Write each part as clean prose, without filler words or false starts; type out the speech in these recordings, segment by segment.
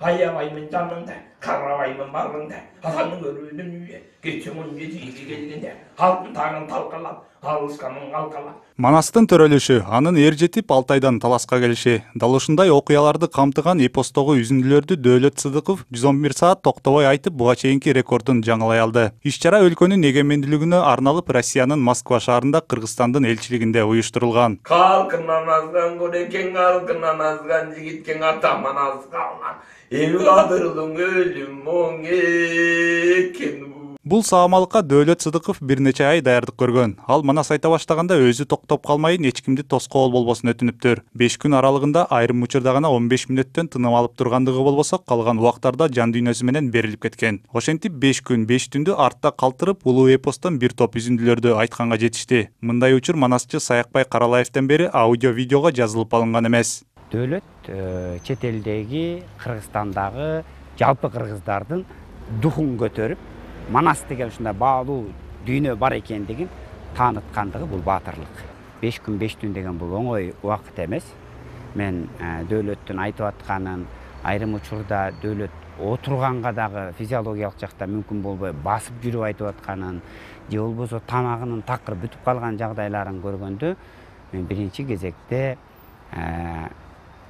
Аябаймын жаныңда, карабаймын барыңда, атаңның өрүүнүн үйү, кечүүнүн жетиги келгенде, алтын тагын талкалап, алышканын алкалап. Манастын төрөлүшү, анын эр жетип Алтайдан таласка келиши, дал ушундай окуяларды камтыган эпостогу үзүндүлөрдү Дөөлөт Сыдыков 111 саат токтобой айтып, буга чейинки рекордун жаңылай алды. Иш-чара өлкөнүн эгемендүүлүгүнө арналып Россиянын Москва шаарында Кыргызстандын элчилигинде уюштурулган. Калкынан азган көрекең, калкынан азган жигитке атаман азгалган. Эми кадырлың өлүм моң экен. Бул саамалыкка Дөөлөт Сыдыков бир нече ай даярдык көргөн. Ал манас айта баштаганда өзү токтоп калмайын, эч кимди тоскоол болбосун өтүнүптүр. 5 күн аралыгында айрым учурда гана 15 мүнөттөн тыным алып тургандыгы болбосо, калган убактарда жан дүйнөсү менен берилип кеткен. Ошентип 5 күн 5 түндү артта калтырып, улуу эпостон бир топ үзүндүлөрдү айтканга жетишти. Мындай учур манасчы Саякбай Каралаевден бери аудио-видеого жазылып алынган эмес. Дөөлөт чет элдеги, Кыргызстандагы жалпы кыргыздардын духун көтөрүп, Манас деген ушундай баалуу дүйнө бар экендигин тааныткандыгы бул баатырлык. 5 күн 5 түн деген бул оңой убакыт эмес. Мен Дөөлөттүн айтып атканын, айрым учурда Дөөлөт отурганга дагы физиологиялык жакта мүмкүн болбой басып жүрүп айтып атканын, же болбосо тамагынын такыр бүтүп калган жагдайларын көргөндө, мен биринчи кезекте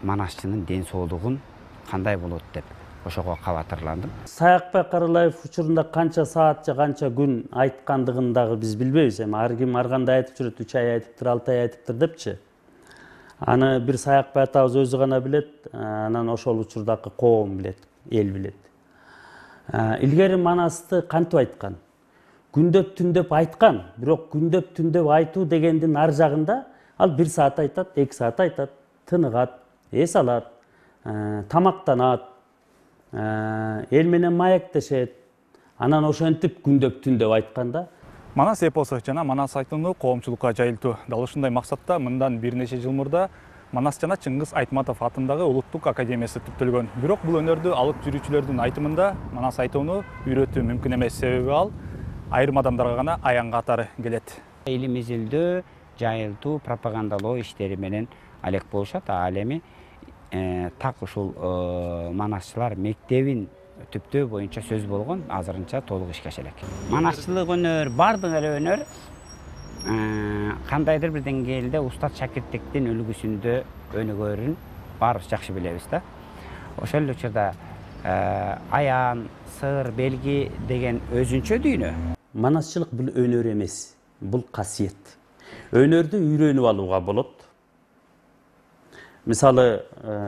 манасчынын ден соолугун кандай болот деп ошого кабатырландым. Саякбай Каралаев учурунда канча саат же канча күн айткандыгын дагы биз билбейбиз. Эми ар ким ар кандай айтып жүрөт, 3 ай айтыптыр, 6 ай айтыптыр депчи. Аны бир Саякбай атабыз өзү гана билет, анан ошол учурдагы коом билет, эл билет. Илгери манасты кантип айткан? Күндөп түндөп айткан, бирок күндөп түндөп айтуу дегендин ар жагында ал 1 саат айтат, 2 саат айтат, тыныгат, эс алат, тамактанат, эл менен маектешет. Анан ошентип күндөп түндөп айтканда Манас эпосу жана манас айтууну коомчулукка жайылтуу. Дал ушундай максатта мындан бир нече жыл мурда Манас жана Чыңгыз Айтматов атындагы Улуттук академиясы түптөлгөн. Бирок бул өнөрдү алып жүрүүчүлөрдүн айтымында манас айтууну үйрөтүү мүмкүн эмес, себеби ал айрым адамдарга гана аян катары келет. Илим изилдөө, жайылтуу, пропагандалоо иштери менен алек болушат. Ал эми так ушул манасчылар мектебин түптөө боюнча сөз болгон, азырынча толук ишке ашат элек. Манасчылык өнөр, бардык эле өнөр кандайдыр бир деңгээлде устат шакирттиктин үлгүсүндө өнүгөрүн баарыбыз жакшы билебиз да. Ошол эле учурда аян, сыр, белги деген өзүнчө дүйнө. Манасчылык бул өнөр эмес, бул касиет. Өнөрдү үйрөнүп алууга болот. Мисалы,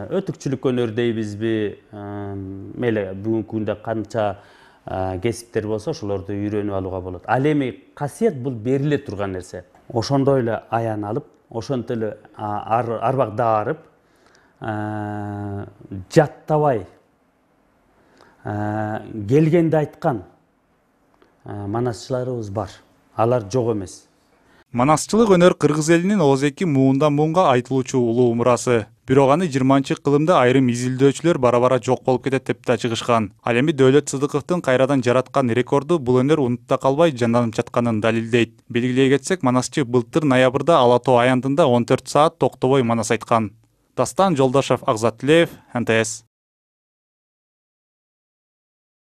өтүкчүлүк өнөр дейбизби, мейли бүгүнкү күндө канча кесиптер болсо, ошолорду үйрөнүп алууга болот. Ал эми касиет бул бериле турган нерсе. Ошондой эле аян алып, ошентип эле арбак даарып, жаттабай келгенде айткан манасчыларыбыз бар. Алар жок эмес. Манасчылык өнөр кыргыз элинин оозеки муундан муунга айтылуучу улуу мурасы. Бирок аны 20-кылымда айрым изилдөөчүлөр бара-бара жок болуп кетет деп да чыгышкан. Ал эми Дөөлөт Сыдыковдун кайрадан жараткан рекорду бул өнөр унутта калбай жанданып жатканын далилдейт. Белгилей кетсек, манасчы былтыр ноябрда Ала Тоо аянтында 14 саат токтобой манас айткан. Дастан Жолдошов, Акзат Тилеев, НТС.